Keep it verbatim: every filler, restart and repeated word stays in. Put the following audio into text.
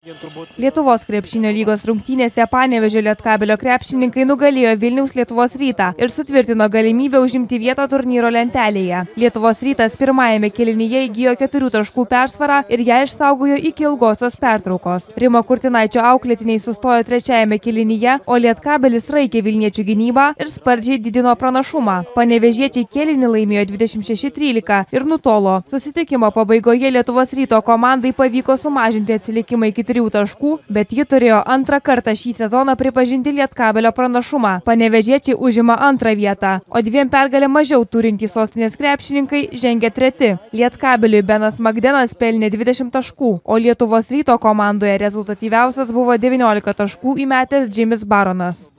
Lietuvos krepšinio lygos rungtynėse Panevėžio Lietkabelio krepšininkai nugalėjo Vilniaus Lietuvos Rytą ir sutvirtino galimybę užimti vietą turnyro lentelėje. Lietuvos Rytas pirmajame kėlinyje įgijo keturių taškų persvarą ir ją išsaugojo iki ilgosios pertraukos. Rimo Kurtinaičio auklėtiniai sustojo trečiajame kėlinyje, o Lietkabelis raikė Vilniečių gynybą ir spardžiai didino pranašumą. Panevėžiečiai kėlinį laimėjo dvidešimt šeši trylika ir nutolo. Susitikimo pabaigoje Lietuvos Ryto komandai pavyko sumažinti atsilikimą iki trijų taškų, bet ji turėjo antrą kartą šį sezoną pripažinti Lietkabelio pranašumą. Panevėžiečiai užima antrą vietą, o dviem pergalę mažiau turintys sostinės krepšininkai žengia treti. Lietkabeliui Benas Magdenas pelnė dvidešimt taškų, o Lietuvos Ryto komandoje rezultatyviausias buvo devyniolika taškų įmetęs Džimis Baronas.